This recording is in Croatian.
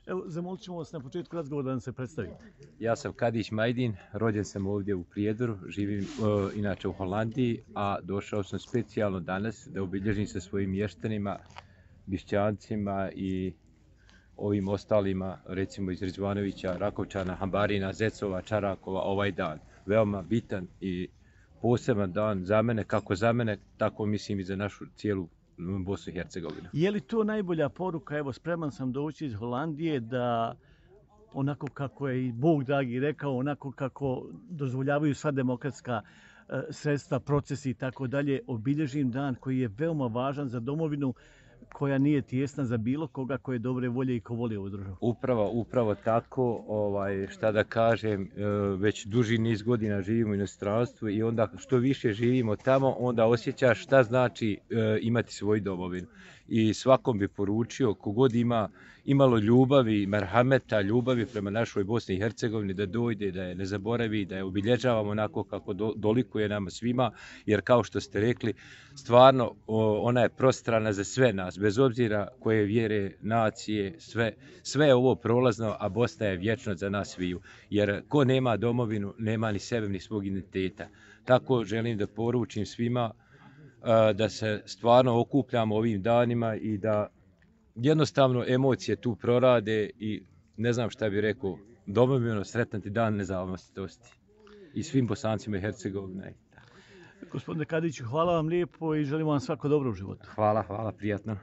Evo, zamolit ćemo vas na početku razgovora da nam se predstavite. Ja sam Kadić Majdin, rođen sam ovdje u Prijedoru, živim inače u Holandiji, a došao sam specijalno danas da obilježim sa svojim mještanima, Bišćancima i ovim ostalima, recimo iz Rizvanovića, Rakovčana, Hambarina, Zecova, Čarakova, ovaj dan. Veoma bitan i poseban dan za mene, kako za mene, tako mislim i za našu cijelu Bosnu i Hercegovinu. Je li to najbolja poruka? Evo, spreman sam doći iz Holandije da onako kako je i Bog dragi rekao, onako kako dozvoljavaju sva demokratska sredstva, procesi i tako dalje, obilježim dan koji je veoma važan za domovinu koja nije tijesna za bilo koga ko je dobre volje i ko voli ovu državu. Upravo tako, šta da kažem, već duži niz godina živimo u inostranstvu i onda što više živimo tamo, onda osjećaš šta znači imati svoju domovinu. I svakom bi poručio, kogod ima imalo ljubavi, merhameta, ljubavi prema našoj Bosni i Hercegovini, da dojde, da je ne zaboravi, da je obilježavamo onako kako dolikuje nama svima, jer kao što ste rekli, stvarno ona je prostrana za sve nas, bez obzira koje vjere, nacije, sve je ovo prolazno, a Bosna je vječno za nas sviju. Jer ko nema domovinu, nema ni sebe, ni svog identiteta. Tako želim da poručim svima da se stvarno okupljamo ovim danima i da jednostavno emocije tu prorade i ne znam šta bih rekao, domovino sretan ti dan nezavisnosti i svim Bosancima i Hercegovine. Gospodine Kadiću, hvala vam lijepo i želim vam svako dobro u životu. Hvala, prijatno.